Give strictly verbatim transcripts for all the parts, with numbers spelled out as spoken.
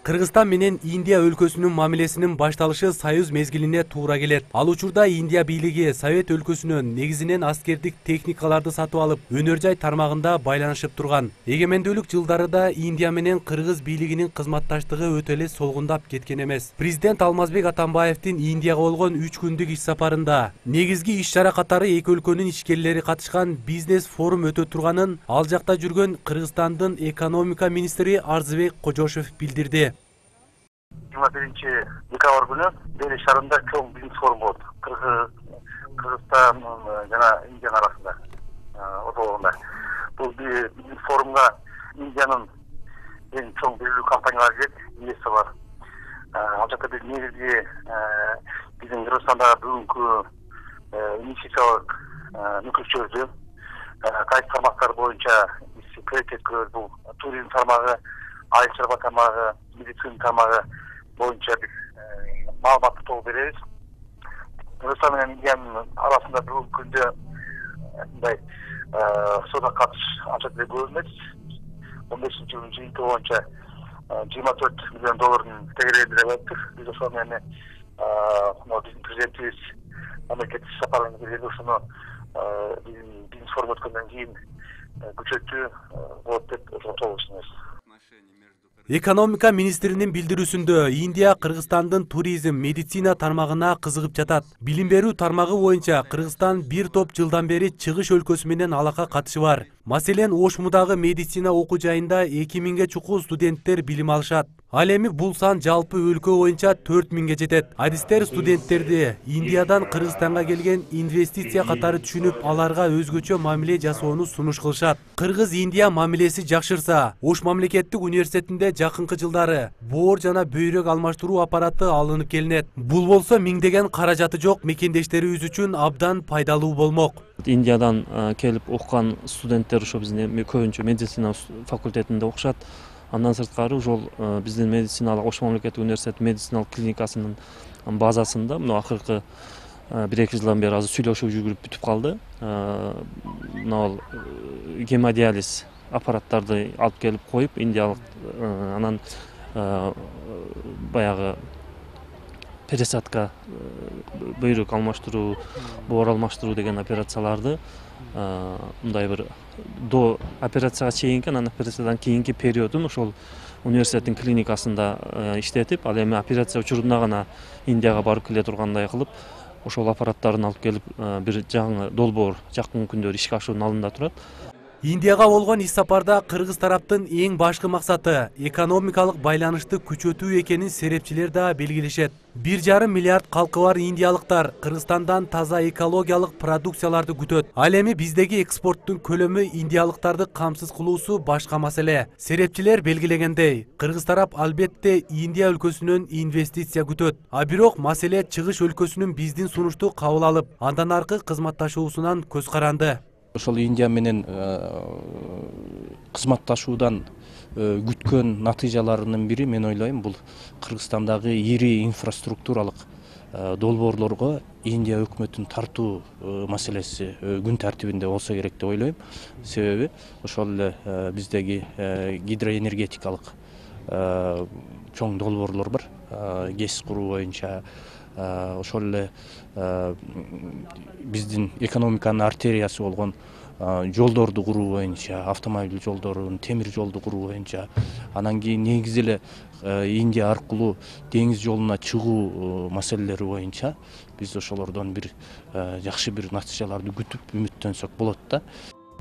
Кыргызстан менен Индия өлкөсүнүн мамилесинин башталышы союз мезгилине туура келет. Ал учурда Индия бийлиги Совет өлкөсүнөн негизинен аскердик техникаларды сатып алып, өнөр жай тармагында байланышып турган. Эгемендүүлүк жылдарында Индия менен кыргыз бийлигинин кызматташтыгы өтө эле солгундап кеткен эмес. Президент Алмазбек Атамбаевдин Индияга болгон үч күндүк иш сапарында негизги иш-чара катары эки өлкөнүн ишкерлери катышкан бизнес форум өтө турганын ал жакта жүргөн Кыргызстандын экономика министри Арзыбек Кожошев билдирди. жыйырма биринчи декабрь күнү Дели шаарында чоң бизнес форум болот. Кыргызстан жана Индиянын арасында ортолугунда. Бул бизнес форумга Индиянын эң чоң белгилүү компаниялары келет, инвесторлор. Ал жакта биз негизги биздин Кыргызстандагы бүгүнкү инвестициялык мүмкүнчүлүктөрдү кайсы тармактар боюнча приоритет көрөбүз. Бул туризм тармагы, айыл чарба тармагы, медицина тармагы боюнча биз маалыматты толук беребиз. Кыргызстан менен Индиянын арасында бүгүнкү күндө мындай соода катыш анча деле көп эмес. он бешинчи жылдын жыйынтыгы боюнча жыйырма төрт миллион доллардын тегерегинде болуптур. Биз ошол менен биздин президентибиз мамлекеттик сапардан келгенде ошону биздин бизнес форум өткөндөн кийин күчөтүү болот деп ошого ишенебиз. Экономика министринин билдирүүсүндө Индия Кыргызстандын туризм, медицина тармагына кызыгып жатат. Билим берүү тармагы боюнча Кыргызстан бир топ жылдан бери чыгыш өлкөсү менен алака катышы бар. Маселен, Ошмудагы медицина окуу жайында эки миңге чукул студенттер билим алышат. Ал эми бул сан жалпы өлкө боюнча төрт миңге жетет. Адистер студенттерди Индиядан Кыргызстанга келген инвестиция катары түшүнүп, аларга өзгөчө мамиле жасоону сунуш кылышат. Кыргыз-Индия мамилеси жакшырса, Ош мамлекеттик университетинде жакынкы жылдары боор жана бөйрөк алмаштыруу аппараты алынып келинет. Бул болсо миңдеген каражаты жок мекендештерибиз үчүн абдан пайдалуу болмок. Индиядан келип окуган студенттер ошо биздин көбүнчө медицина факультетинде окушат. Андан сырткары ошол биздин медициналык Ош мамлекеттик университет медициналык клиникасынын базасында мына акыркы бир эки жылдан бери азыр сүйлөшүп жүрүп бүтүп калды. Мына гемодиализ аппараттарды алып келип коюп, индиялык анан баягы пересадка, бөйрөк алмаштыруу, боор алмаштыруу деген операцияларды мындай бир до операцияга чейинки, анан операциядан кийинки периодун ошол университеттин клиникасында иштетип, ал эми операция учурунда гана Индияга барып келе тургандай кылып, ошол аппараттарын алып келип бир жаңы долбоор жакын күндөрү ишке ашуунун алдында турат. Индияга болгон иш сапарда кыргыз тараптын эң башкы максаты экономикалык байланышты күчөтүү экенин серепчилер да белгилешет. бир жарым миллиард калкы бар индиялыктар Кыргызстандан таза экологиялык продукцияларды күтөт. Ал эми биздеги экспорттун көлөмү индиялыктарды камсыз кылуусу башка маселе. Серепчилер белгилегендей, кыргыз тарап албетте Индия өлкөсүнөн инвестиция күтөт. А бирок маселе чыгыш өлкөсүнүн биздин сунушту кабыл алып, андан аркы кызматташуусунан көз каранды. Ошол Индия менен кызматташуудан күткөн натыйжаларынын бири, мен ойлойм, бул Кыргызстандагы ири инфраструктуралык долбоорлорго Индия өкмөтүн тартуу маселеси күн тартибинде болсо керек деп ойлойм. Себеби ошол эле биздеги гидроэнергетикалык чоң долбоорлор бар. ГЭС куруу боюнча, ошол эле биздин экономиканын артериясы болгон жолдорду куруу боюнча, автомобиль жолдорун, темир жолду куруу боюнча, анан кийин негизи эле Индия аркылуу деңиз жолуна чыгуу маселелери боюнча биз ошолордон бир жакшы бир натыйжаларды күтүп үмүттөнсөк болот да.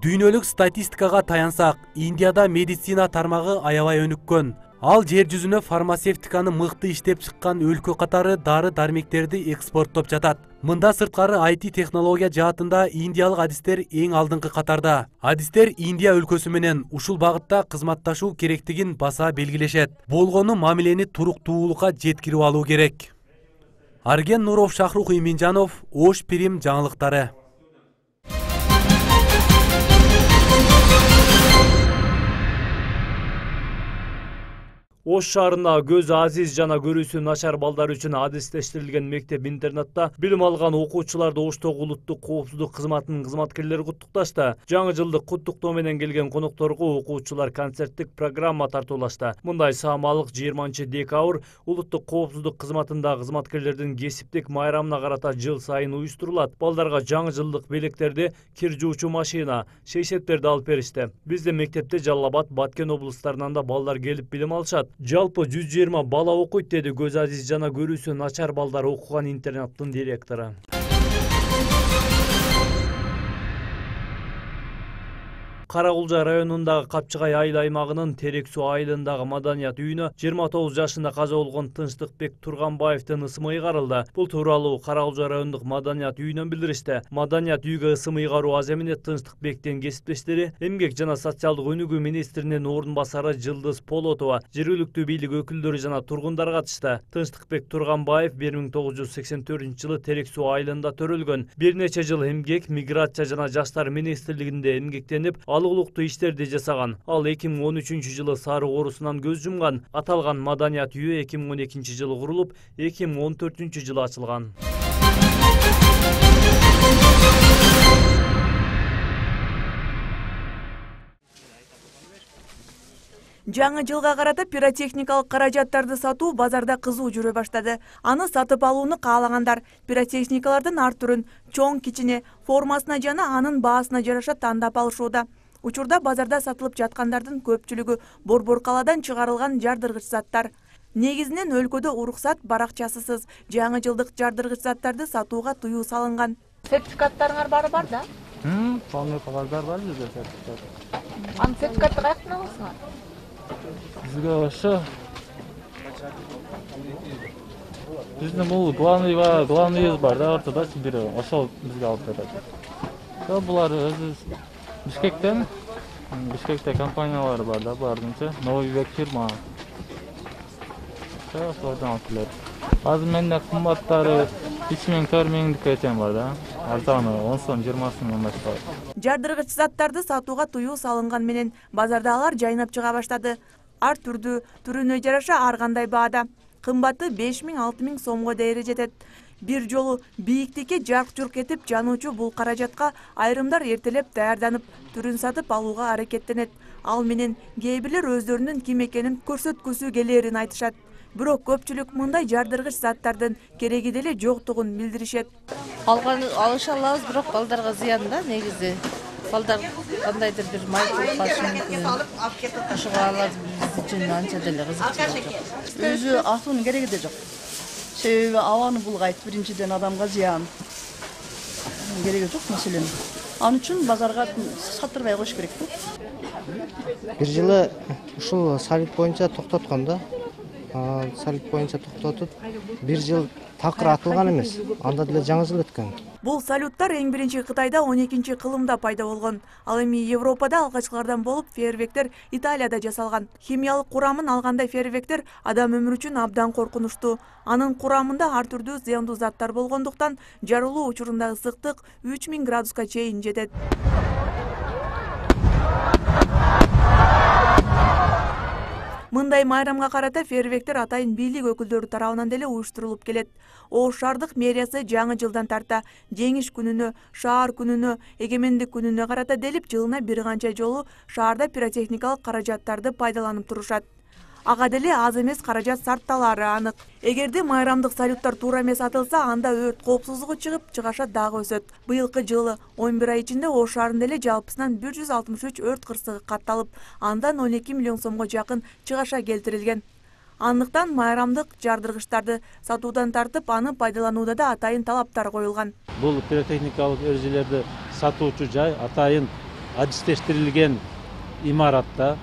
Дүйнөлүк статистикага таянсак, Индияда медицина тармагы аябай өнүккөн. Ал жер жүзүнө фармацевтиканы мыкты иштеп чыккан өлкө катары дары-дармектерди экспорттоп жатат. Мында сырткары ай ти технология жаатында индиялык адистер эң алдыңкы катарда. Адистер Индия өлкөсү менен ушул багытта кызматташуу керектигин баса белгилешет. Болгону мамилени туруктуулукка жеткирип алуу керек. Арген Нуров, Шахрух Иминжанов, Ош Пирим жаңылыктары. Ош шаарындагы көз азиз жана көрүүсү начар балдар үчүн адистештирилген мектеп-интернатта билим алган окуучуларды Оштогу улуттук коопсуздук кызматынын кызматкерлери куттукташты. Жаңы жылдык куттуктоо менен келген конокторго окуучулар концерттик программа тартуулашты. Мындай саамалык жыйырманчы декабрь улуттук коопсуздук кызматындагы кызматкерлердин кесиптик майрамына карата жыл сайын уюштурулат. Балдарга жаңы жылдык белектерди, кир жуучу машина, шейшеттерди алып беришти. Биздин мектепте Жалал Абад, Баткен облустарынан да балдар келип билим алышат. Жалпы жүз жыйырма бала окуйт, деди көз азиз жана көрүүсү начар балдар окуган интернаттын директору. Каракулжа районундагы Капчыгай айыл аймагынын Терек суу айылындагы маданият үйүнө жыйырма тогуз жашында каза болгон Тынчтыкбек Турганбаевдин ысымы ыйгарылды. Бул тууралуу Каракулжа райондук маданият үйүнөн билдиришти. Маданият үйгө ысым ыйгаруу аз эмне Тынчтыкбектин кесиптештери, эмгек жана социалдык өнүгүү министринин орун басары Жылдыз Полотова, жергиликтүү бийлик өкүлдөрү жана тургундар катышты. Тынчтыкбек Турганбаев бир миң тогуз жүз сексен төртүнчү жылы Терек суу айылында төрөлгөн. Бир нече жыл эмгек, миграция жана жаштар министрлигинде эмгектенип, алыгулуктуу иштерди жасаган. Ал эки миң он үчүнчү жылы сары оорусунан көз жумган. Аталган маданият үйү эки миң он экинчи жылы курулуп, эки миң он төртүнчү жылы ачылган. Жаңы жылга карата пиротехникалык каражаттарды сатуу базарда кызуу жүрө баштады. Аны сатып алууну каалагандар пиротехникалардын ар түрүн, чоң кичине, формасына жана анын баасына жараша тандап алышууда. Учурда базарда сатылып жаткандардын көпчүлүгү борбор каладан чыгарылган жардыргыч заттар. Негизинен өлкөдө уруксат баракчасысыз жаңы жылдык жардыргыч заттарды сатууга тыюу салынган. Сертификаттарыңар баары бар да? Хм, полный кагаздар бар бизде сертификат. Анын сертификатты каяктан аласыңар? Бизге ошо биздин бул главный бар, главныйыбыз бар да, ортодо бир ошол бизге алып берет. Ошо булар өзү Бишкектен, Бишкекте компаниялары бар да, булардынчы Новый век фирма. Ошо ошолордон алып келет. Азыр менде кымбаттары үч миң төрт миңдикке чейин бар да. Арзаны он сом жыйырма сомдон башталат. Жардыргыч заттарды сатууга тыюу салынган менен базарда алар жайнап чыга баштады. Ар түрдүү, түрүнө жараша ар кандай баада. Кымбаты беш миң алты миң сомго дейре жетет. Бир жолу бийиктикке жарк-журк этип жануучу бул каражатка айрымдар эртелеп даярданып, түрүн сатып алууга аракеттенет. Ал менен кээ бирлер өздөрүнүн ким экенин көрсөткүсү келерин айтышат. Бирок көпчүлүк мындай жардыргыч заттардын кереги деле жоктугун билдиришет. Алган алыша алабыз, бирок балдарга зыян да негизи. Балдар кандайдыр бир майгыл башы мүмкүн. Ошого алар биз үчүн анча деле кызыкчу жок. Өзү атуунун кереги да жок. Себеби абаны булгайт, биринчиден адамга зыян. Кереги жок маселенин. Ал үчүн базарга саттырбай коюш керек да. Бир жылы ушул салют боюнча токтоткон да. Салют боюнча токтотуп, бир жыл такыр атылган эмес. Анда деле жаңы жыл өткөн. Бул салюттар эң биринчи Кытайда он экинчи кылымда пайда болгон. Ал эми Европада алгачкылардан болуп, фейерверктер Италияда жасалган. Химиялык курамын алгандай фейерверктер адам өмүрү үчүн абдан коркунучтуу. Анын курамында ар түрдүү зыяндуу заттар болгондуктан жарылуу учурунда ысыктык үч миң градуска чейин жетет. Мындай майрамга карата фейерверктер атайын бийлик өкүлдөрү тарабынан деле уюштурулуп келет. Ош шаардык мэриясы жаңы жылдан тарта жеңиш күнүнө, шаар күнүнө, эгемендик күнүнө карата делип жылына бир канча жолу шаарда пиротехникалык каражаттарды пайдаланып турушат. Ага деле аз эмес каражат сарпталары анык. Эгерде майрамдык салюттар туура эмес атылса, анда өрт коопсуздугу чыгып, чыгаша дагы өсөт. Быйылкы жылы он бир ай ичинде Ош шаарында эле жалпысынан бир жүз алтымыш үч өрт кырсыгы катталып, андан он эки миллион сомго жакын чыгаша келтирилген. Андыктан майрамдык жардыргычтарды сатуудан тартып, аны пайдаланууда да атайын талаптар коюлган. Бул пиротехникалык эрежелерди сатуучу жай атайын адистештирилген имаратта.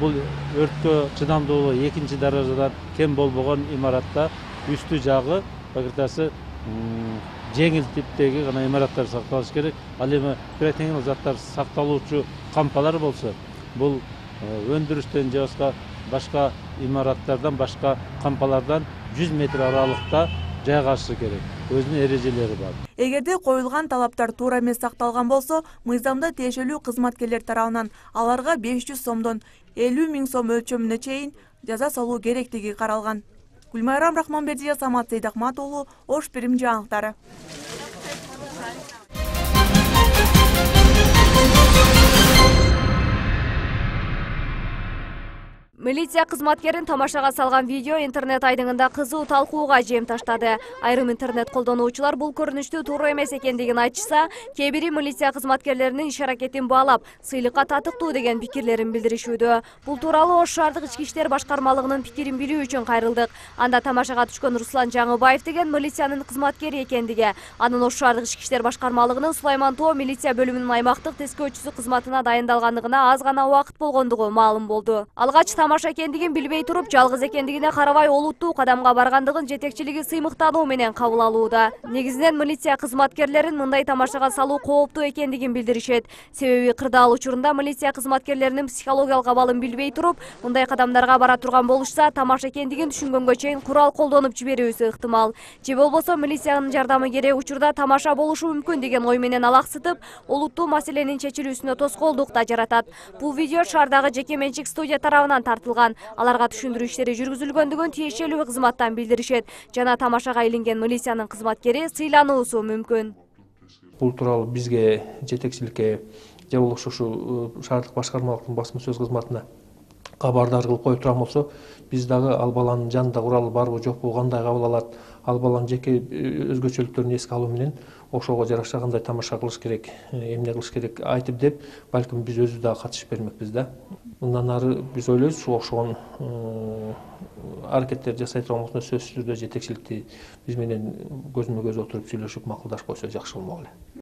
Бул өрткө чыдамдуулугу экинчи даражадан кем болбогон имаратта үстү жагы багыртасы жеңил типтеги гана имараттар сакталыш керек. Ал эми пиротехникалык заттар сакталуучу кампалар болсо, бул өндүрүштөн же башка имараттардан, башка кампалардан жүз метр аралыкта жайгашышы керек. өзүнүн эрежелери бар. Эгерде коюлган талаптар туура эмес сакталган болсо, мыйзамда тиешелүү кызматкерлер тарабынан аларга беш жүз сомдон элүү миң сом өлчөмүнө чейин жаза салуу керектиги каралган. Гүлмайрам Рахманбердиева, Самат Сейдахмат уулу, Ош Бирим жаңылыктары. Милиция кызматкерин тамашага салган видео интернет айдыңында кызуу талкууга жем таштады. Айрым интернет колдонуучулар бул көрүнүштү туура эмес экендигин айтышса, кээ бири милиция кызматкерлеринин иш аракетин баалап, сыйлыкка татыктуу деген пикирлерин билдиришүүдө. Бул тууралуу Ош шаардык ички иштер башкармалыгынын пикирин билүү үчүн кайрылдык. Анда тамашага түшкөн Руслан Жаңыбаев деген милициянын кызматкери экендиги, анын Ош шаардык ички иштер башкармалыгынын Сулайман Тоо милиция бөлүмүнүн аймактык тескөөчүсү кызматына дайындалгандыгына аз гана убакыт болгондугу маалым болду. Алгач тамаша экендигин билбей туруп, жалгыз экендигине карабай олуттуу кадамга баргандыгын жетекчилиги сыймыктануу менен кабыл алууда. Негизинен милиция кызматкерлерин мындай тамашага салуу кооптуу экендигин билдиришет. Себеби кырдаал учурунда милиция кызматкерлеринин психологиялык абалын билбей туруп, мындай кадамдарга бара турган болушса, тамаша экендигин түшүнгөнгө чейин курал колдонуп жиберүүсү ыктымал. Же болбосо милициянын жардамы керек учурда тамаша болушу мүмкүн деген ой менен алаксытып, олуттуу маселенин чечилүүсүнө тоскоолдук да жаратат. Бул видео шаардагы жеке менчик студия тарабынан тартылган. Аларга түшүндүрүү иштери жүргүзүлгөндүгүн тиешелүү кызматтан билдиришет жана тамашага илинген милициянын кызматкери сыйлануусу мүмкүн. Бул тууралуу бизге жетекчиликке же болбосо ушу шаардык башкармалыктын басма сөз кызматына кабардар кылып коюп турган болсо, биз дагы ал баланын жанында куралы барбы жокпу, кандай кабыл алат, ал баланын жеке өзгөчөлүктөрүн эске алуу менен ошого жараша кандай тамаша кылыш керек, эмне кылыш керек айтып деп, балким биз өзүбүз дагы катышып бермекпиз да. Мындан ары биз ойлойбуз, ушул окшогон аракеттер жасай турган болсо, сөзсүз түрдө жетекчиликти биз менен көзмө көз отуруп сүйлөшүп макулдашып койсо жакшы болмок эле.